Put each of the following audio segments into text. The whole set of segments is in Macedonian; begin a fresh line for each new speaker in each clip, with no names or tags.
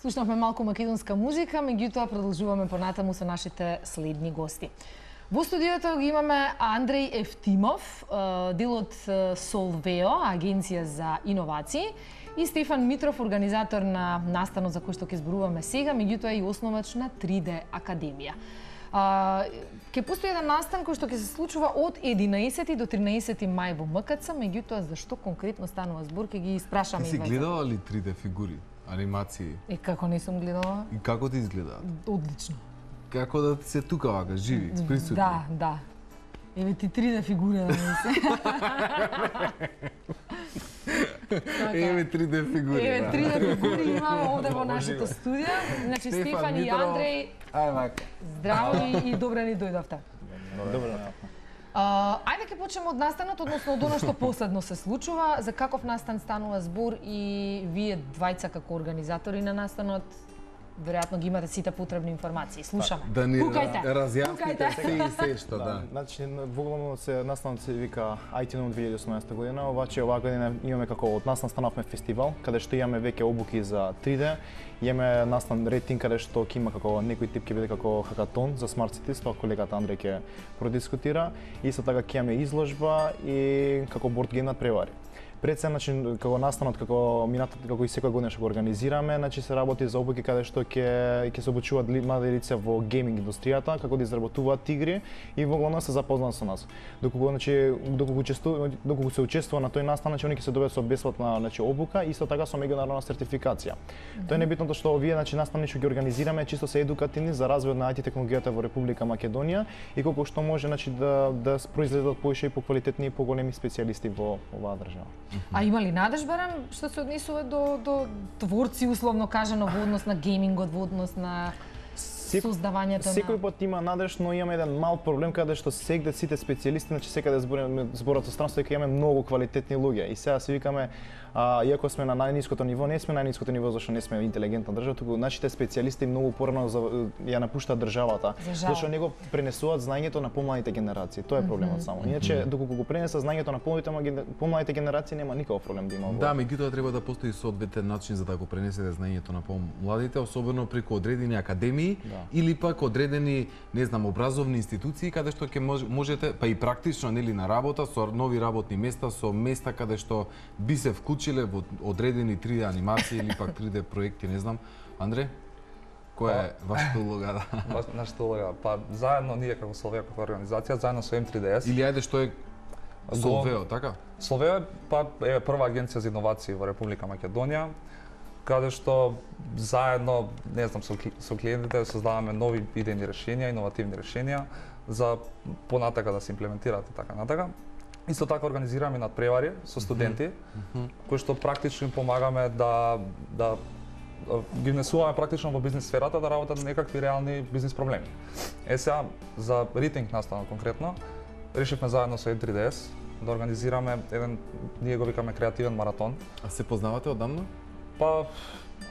Слушнавме малку македонска музика, меѓутоа продолжуваме понатаму со нашите следни гости. Во студиото ги имаме Андреј Евтимов, дел од Solveo, агенција за иновации, и Стефан Митров, организатор на настанот за кој што ќе зборуваме сега, меѓутоа и основач на 3D Академија. Ќе постои еден настан кој што ќе се случува од 11 до 13 мај во МКЦ, меѓутоа зашто конкретно станува збор, ќе ги испрашаме.
Ти си гледала ли 3D фигури, анимации?
Како не сум гледала?
И како ти изгледаат?
Одлично.
Како да ти се тука вака, живи, присутни?
Да. Еве ти 3D фигури да ми се.
Еве 3D фигури.
Еве 3D фигури имаме овде во нашето студио. Значи Стефан и Андреј.
Ај вака.
Здраво и добре ни дојдовте.
Добро.
Ајде ќе почнеме од настанот, односно од она што последно се случува. За каков настан станува збор и вие двајца како организатори на настанот веројатно ги имате сите потребни информации. Слушаме.
Да ни
Пукајте.
разјасните се што, да.
Значи, воглавно настанот се вика IT Noon 2018 година, обаче оваа година имаме како од настан станавме фестивал, каде што имаме веќе обуки за 3D, имаме настан рейтинг каде што ќе има како некој тип ќе биде како хакатон за Smart Cities, тоа колегата Андреј ќе продискутира, и исто така ќе имаме изложба и како борд гейм надпревари. Пред се, значи, како настанот, како и секоја година што го организираме, значи се работи за обуки каде што ќе се обучуваат млади лица во гейминг индустријата, како да изработуваат игри и воглавно се запознаат со нас. Доколку се учествува на тој настан, значи они ќе се добијат со бесплатна, значи, обука и исто така со меѓународна сертификација. Тоа е небитното што овие, значи, настани што ги организираме чисто се едукативни за развојот на IT технологијата во Република Македонија и колку што може, значи, да произлезат поише и поквалитетни и поголеми специјалисти во оваа држава.
А има ли надеж, барем, што се однесува до творци, условно кажано, во однос на геймингот, во однос на создавањето на...
Секој пат има надеж, но имаме еден мал проблем каде што сегде сите специјалисти, значи секаде зборат со странство, дека имаме многу квалитетни луѓе и сега се викаме, иако сме на најниското ниво, не сме најниското ниво зашто не сме интелигентна држава, туку нашите специјалисти многу порано ја напуштаат државата, зашто него пренесуваат знаењето на помладите генерации. Тоа е проблемот само. Иначе доколку го пренесат знаењето на помладите генерации нема никаков проблем да има.
Да, меѓутоа треба да постои соодветен начин за да го пренесете знаењето на помладите, особено преку одредени академии или пак одредени, не знам, образовни институции каде што ќе можете, па и практично, нели, на работа со нови работни места, со места каде што би се вклучиле во одредени 3D анимации или пак 3D проекти, не знам. Андре, која е вашата улога?
Нашата улога, па заедно ние како Solveo како организација, заедно со M3DS.
Или ајде што е Solveo, така?
Solveo па е прва агенција за иновации во Република Македонија, каде што заедно, не знам, со клиентите создаваме нови идејни решенија, иновативни решенија за понатака да се имплементираат и така натака. Исто така организираме надпревари со студенти, кои што практично им помагаме да ги внесуваме практично во бизнис сферата да работат на некакви реални бизнис проблеми. Сега за ритинг настанот конкретно решивме заедно со M3DS да организираме еден, ние го викаме креативен маратон.
А се познавате одамна?
Па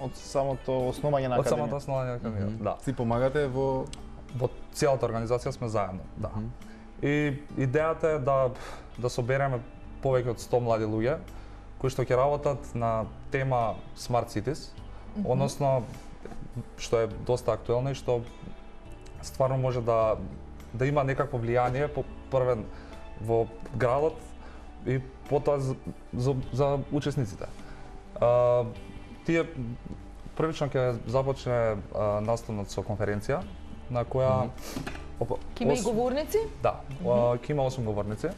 од самото основање на академија.
Од самото основање на академија, да.
Си помагате во
целата организација сме заедно, да. И идејата е да собереме повеќе од 100 млади луѓе кои што ќе работат на тема Smart Cities, односно што е доста актуелно и што стварно може да има некакво влијание првен во градот и потоа за учесниците. Тие првично ќе започне настанот со конференција на која
Ќе има и говорници?
Да, ќе има 8 говорници.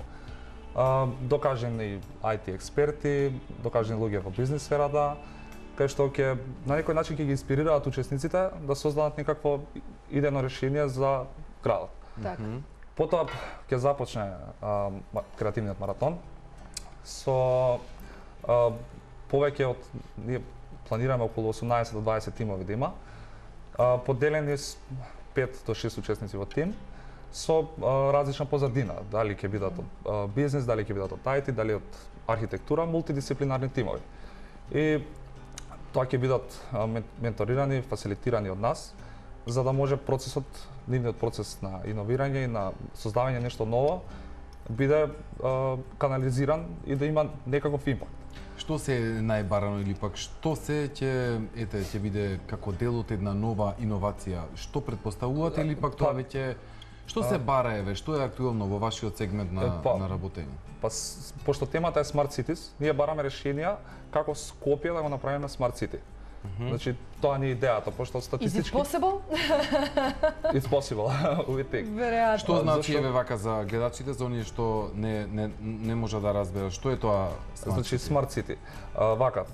Докажени IT експерти, докажени луѓе во бизнис сферата, кај што ќе на некој начин ќе ги инспирираат учесниците да создадат некакво идејно решение за градот. Потоа ќе започне креативниот маратон со повеќе од, ние планираме околу 18 до 20 тимови да има, поделени с 5 до 6 учесници во тим, со различна позадина, дали ќе бидат од бизнес, дали ќе бидат од IT, дали од архитектура, мултидисциплинарни тимови. И тоа ќе бидат менторирани, фасилитирани од нас, за да може нивниот процес на иновирање и на создавање нешто ново биде канализиран и да има некаков импакт.
Што се најбарано или пак што се ќе биде како дел од една нова иновација? Што претпоставувате или пак тоа веќе што се бара еве, што е актуелно во вашиот сегмент на работење?
Пошто темата е Smart Cities, ние бараме решенија како Скопје да го направиме Smart City. Значи, тоа не е идејата, пошто статистички...
Is it possible?
It's possible, we think.
Веројатно.
Што значи еве вака за гледачите, за оние што не може да разберат, што е тоа
Значи, Smart City. Вака,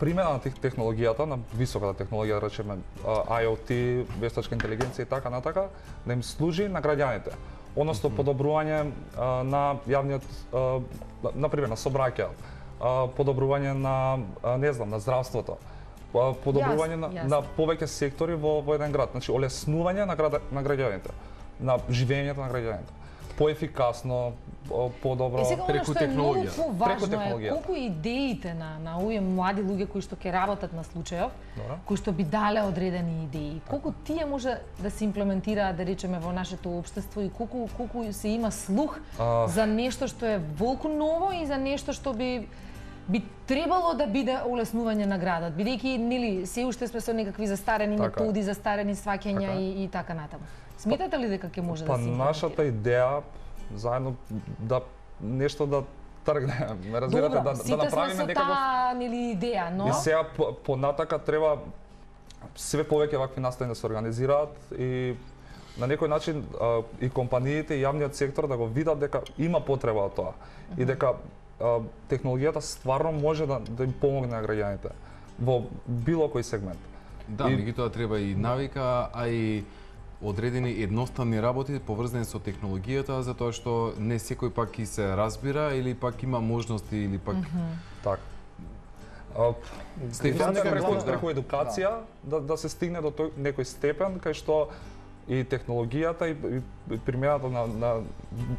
примена на технологијата, на високата технологија, да речеме IoT, вештачка интелигенција и така натака, да им служи на граѓаните. Односно, подобрување на јавниот, например, на сообраќај, подобрување на, не знам, на здравството, подобрување на повеќе сектори во еден град, значи олеснување на граѓаните, на живењето на граѓаните. Поефикасно, подобро
преку технологија.
Преку технологија. Колку идеите на овие млади луѓе кои што ќе работат на случајов, кои што би дале одредени идеи, колку тие може да се имплементираат, да речеме, во нашето општество и колку се има слух за нешто што е волку ново и за нешто што би требало да биде олеснување на градот, бидејќи нели се уште сме со некакви застарени методи, застарени сваќања и така натаму. Сметате ли дека ќе може да се имплементира?
Нашата идеја заедно да нешто да тргне, ме разбирате, да направиме некако
таа нели идеја, но
и сега понатака треба све повеќе вакви настани да се организираат и на некој начин и компаниите и јавниот сектор да го видат дека има потреба од тоа и дека технологијата стварно може да им помогне на граѓаните во било кој сегмент.
Да, меѓутоа треба и навика, а и одредени едноставни работи поврзани со технологијата, затоа што не секој пак ќе се разбира или пак има можности или пак
така. Преку едукација да се стигне до некој степен кај што и технологијата и примената на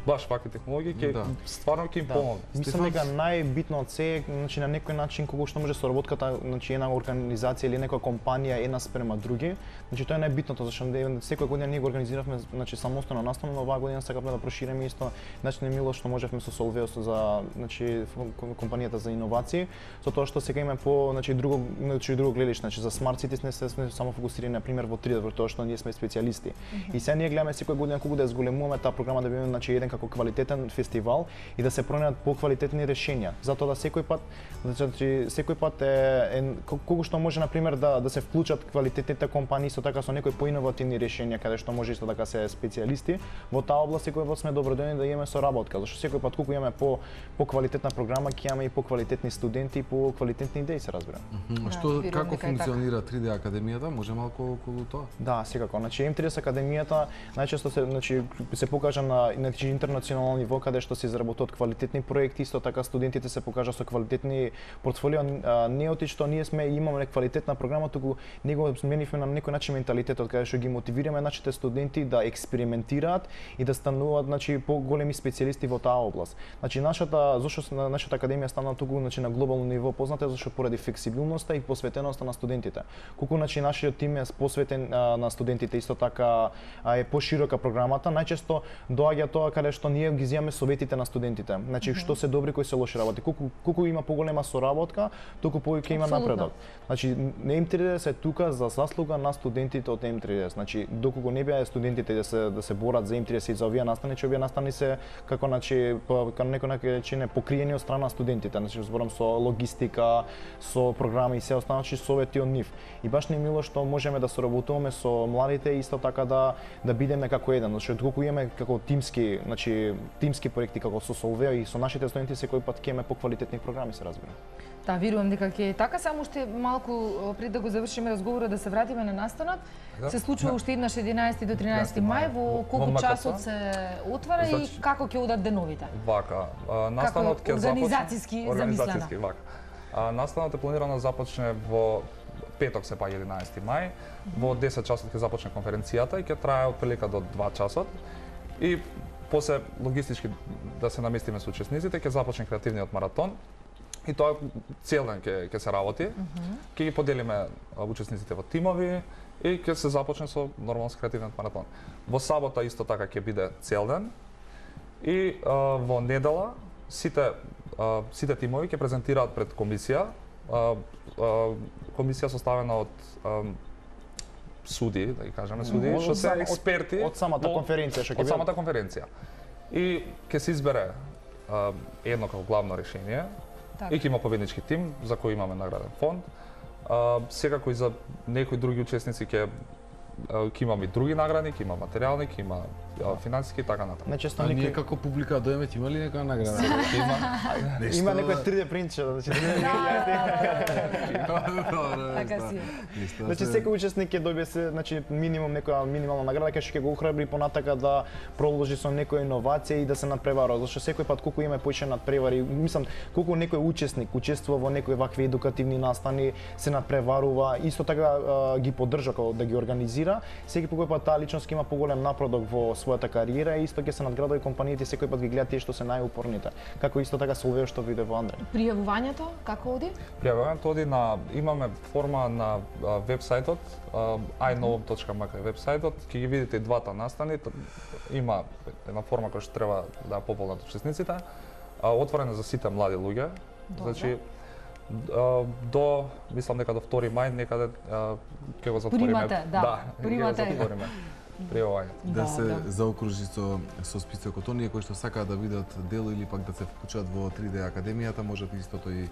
баш вакви технологии ќе стварно ќе им помогне.
Мислам дека најбитно од се, значи на некој начин кога што може соработката, значи една организација или некоја компанија една спрема други, значи тоа е најбитното зашто секоја година ние го организиравме значи самостојно настана, но оваа година сакавме да прошириме исто начинот мило што можевме со Solveo за значи компанијата за иновации, со тоа што сега имаме по значи друго гледиште, значи за Smart Cities не сме само фокусирани на пример во 3D, во тоа што ние сме специјалисти. И сега ние гледаме секоја година колку да ја зголемуваме таа програма да биде значи еден како квалитетен фестивал и да се пронајдат поквалитетни решенија. Затоа да секој пат е колку што може на пример да се вклучат квалитетните компании со така со некои поиновативни решенија каде што може исто така се специјалисти во таа област, секој пат сме добродојни да имаме соработка, зашто секој пат колку имаме по квалитетна програма ќе имаме и по квалитетни студенти и по квалитетни идеи, се разбира.
Што како функционира 3D академијата? Може малку околу тоа?
Да, секако. Значи M3D академијата најчесто се покажа на интернационално ниво каде што се изработуваат квалитетни проекти, исто така студентите се покажа со квалитетни портфолио, не оти што ние имаме квалитетна програма, туку него сменивме на некој начин менталитетот каде што ги мотивираме нашите студенти да експериментираат и да стануваат значи поголеми специјалисти во таа област. Значи зошто нашата академија стана туку значи на глобално ниво позната зашто поради флексибилноста и посветеноста на студентите. Колку значи нашиот тим е посветен на студентите, исто така е поширока програмата, најчесто доаѓа тоа каде што ние ги земаме советите на студентите. Значи што се добри, кои се лоши работи. Колку има поголема соработка, толку повеќе има напредок. Значи M3D се тука за заслуга на студентите од M3D. Значи доколку не беа студентите да се борат за M3D и за овие настани, че овие настани се како значи некој начин покриени од страна на студентите. Значи зборам со логистика, со програми и се останати совети од нив. И баш не мило што можеме да соработуваме со младите и исто така да бидеме како еден, зашто колку имаме како тимски проекти како со Solveo и со нашите студенти секој пат ќе имаме поквалитетни програми, се разбира.
Да, верувам дека ќе така, само уште малку пред да го завршиме разговорот да се вратиме на настанот. Се случува уште еднаш 11 до 13 мај, во колку часот се отвара и како ќе одат деновите?
Вака, настанот ќе
започне организацијски
вака. Настанот е планирано да започне во петок се па 11 мај, во 10 часот ќе започне конференцијата и ќе трае отприлика до 2 часот. И после логистички да се наместиме со учесниците, ќе започне креативниот маратон. И тоа цел ден ќе се работи. Ќе ги поделиме учесниците во тимови и ќе се започне со нормално креативниот маратон. Во сабота исто така ќе биде цел ден. И во недела сите сите тимови ќе презентираат пред комисија, комисија составена од суди, да ги кажеме суди, што се експерти
од самата конференција што ќе
од самата конференција. И ќе се избере едно како главно решение. И ќе има победнички тим за кој имаме награден фонд. Секако и за некои други учесници ќе имаме и други награди, ќе има материјални, ќе има финансиски и така натаму.
А ние како публика дојме ќе има ли некоја награда?
Има некој 3D принтче,
Така си.
Значи секој учесник ќе добие значи минимум некоја минимална награда кај што ќе го охрабри понатака да продолжи со некоја иновација и да се надпреварува, зашто секој пат колку има поише надпревари, мислам колку некој учесник учествува во некои вакви едукативни настани, се надпреварува, исто така ги поддржа како да ги организира, секој пат таа личност има поголем напредок во својата кариера и исто ќе се надградува и компаниите секој пат ги гледаат тие што се најупорните. Како исто така Солвео што биде во Андреј.
Пријавувањето како оди?
Пријавувањето оди на имаме форма на вебсајтот iKnowem.mk вебсајтот, ќе ги видите и двата настани, има една форма која што треба да пополнат учесниците. Отворена за сите млади луѓе. Значи до мислам дека до 2 мај некаде ќе го затвориме.
Примате, да.
Примате. Пријавувањето.
Да се заокружи со списокот оние кои што сакаат да видат дело или пак да се вклучат во 3D академијата, можат истото и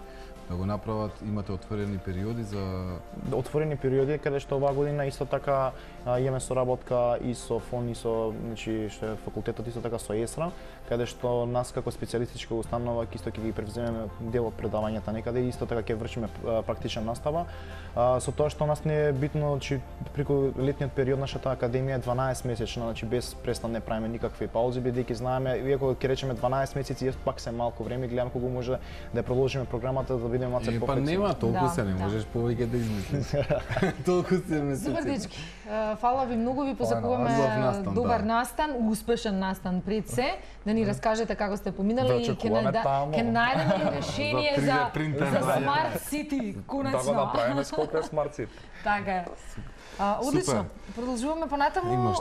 да го направат. Имате отворени периоди за
отворени периоди каде што оваа година исто така имаме соработка и со ФОН и со значи што е факултетот исто така со ЕСРА, каде што нас како специјалистичка установа исто ќе ги превземеме дел од предавањата некаде и исто така ќе вршиме практична настава. Со тоа што нас не е битно, че преку летниот период нашата академија е 12 месечна, значи без престан не правиме никакви паузи, бидејќи знаеме, иако ќе речеме 12 месеци, пак се малку време, гледаме колку може да продолжиме програмата да бидеме малку
по-флексибни. Па нема толку се, не можеш повеќе да измислиш. Толку се месеци.
Супер дечки. Фала ви многу, ви позакуваме добар настан, успешен настан пред се, да ни раскажете како сте поминали и ќе најдеме решение за Smart City, конечно.
Да го направиме скока Smart City.
Така е. Одлично. Продолжуваме понатаму.